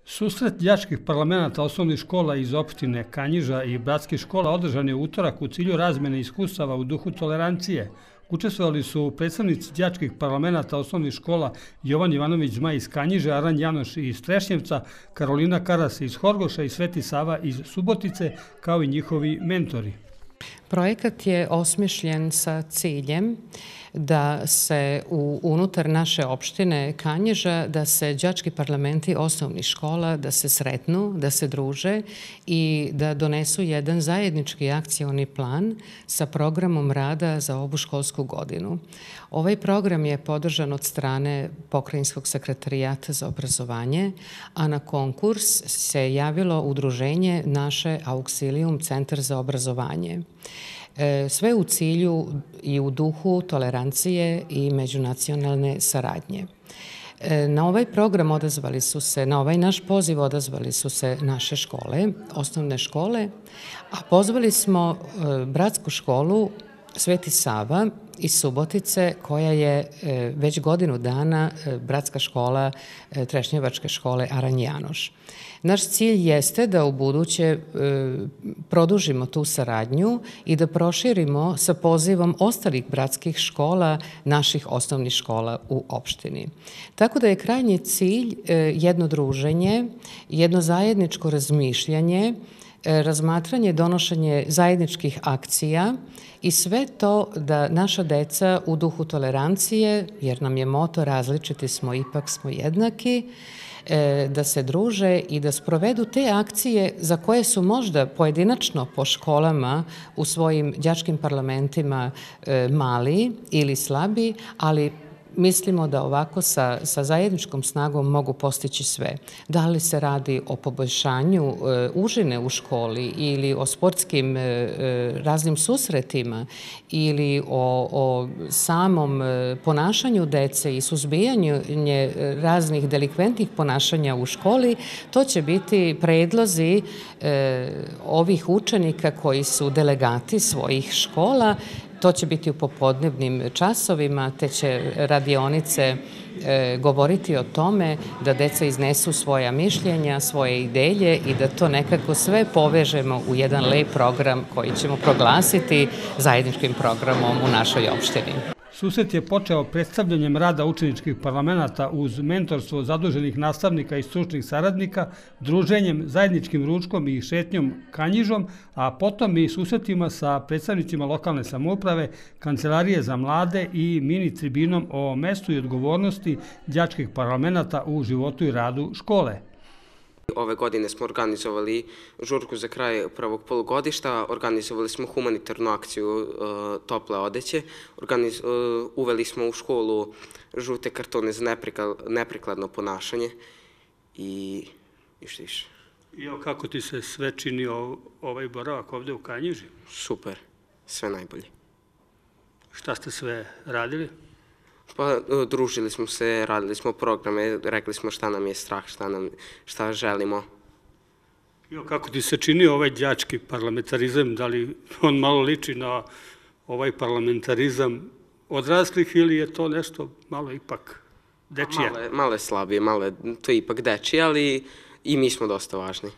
Susret đačkih parlamenata osnovnih škola iz opštine Kanjiža i bratskih škola održan je u utorak u cilju razmene iskustava u duhu tolerancije. Učestvovali su predstavnici đačkih parlamenata osnovnih škola Jovan Ivanović Zmaj iz Kanjiže, Aran Janoš iz Trešnjevca, Karolina Karas iz Horgoša i Sveti Sava iz Subotice, kao i njihovi mentori. Projekat je osmišljen sa ciljem da se unutar naše opštine Kanjiža, da se đački parlamenti osnovnih škola, da se sretnu, da se druže i da donesu jedan zajednički akcioni plan sa programom rada za ovu školsku godinu. Ovaj program je podržan od strane Pokrajinskog sekretarijata za obrazovanje, a na konkurs se javilo udruženje naše Auxilium Centar za obrazovanje. Sve u cilju i u duhu tolerancije i međunacionalne saradnje. Na ovaj program odazvali su se, na ovaj naš poziv odazvali su se naše škole, osnovne škole, a pozvali smo bratsku školu Sveti Sava iz Subotice, koja je već godinu dana bratska škola Trešnjevačke škole Aran Janoš. Naš cilj jeste da u buduće produžimo tu saradnju i da proširimo sa pozivom ostalih bratskih škola naših osnovnih škola u opštini. Tako da je krajnji cilj jedno druženje, jedno zajedničko razmišljanje, razmatranje, donošenje zajedničkih akcija i sve to da naša deca u duhu tolerancije, jer nam je moto različiti smo, ipak smo jednaki, da se druže i da sprovedu te akcije za koje su možda pojedinačno po školama u svojim đačkim parlamentima mali ili slabi, ali mislimo da ovako sa zajedničkom snagom mogu postići sve. Da li se radi o poboljšanju užine u školi ili o sportskim raznim susretima ili o samom ponašanju dece i suzbijanju raznih delikventnih ponašanja u školi, to će biti predlozi ovih učenika koji su delegati svojih škola. To će biti u popodnevnim časovima, te će radionice govoriti o tome da deca iznesu svoja mišljenja, svoje ideje i da to nekako sve povežemo u jedan lep program koji ćemo proglasiti zajedničkim programom u našoj opštini. Susret je počeo predstavljanjem rada učeničkih parlamenta uz mentorstvo zaduženih nastavnika i stručnih saradnika, druženjem, zajedničkim ručkom i šetnjom Kanjižom, a potom i susretima sa predstavnicima lokalne samouprave, Kancelarije za mlade i mini tribinom o mestu i odgovornosti đačkih parlamenta u životu i radu škole. Ove godine smo organizovali žurku za kraj prvog polugodišta, organizovali smo humanitarnu akciju tople odeće, uveli smo u školu žute kartone za neprikladno ponašanje i što više. I kako ti se sve činio ovaj boravak ovde u Kanjiži? Super, sve najbolje. Šta ste sve radili? Pa družili smo se, radili smo programe, rekli smo šta nam je strah, šta želimo. Kako ti se čini ovaj đački parlamentarizam, da li on malo liči na ovaj parlamentarizam odraslih ili je to nešto malo ipak dečije? Malo je slabije, to je ipak dečije, ali i mi smo dosta važni.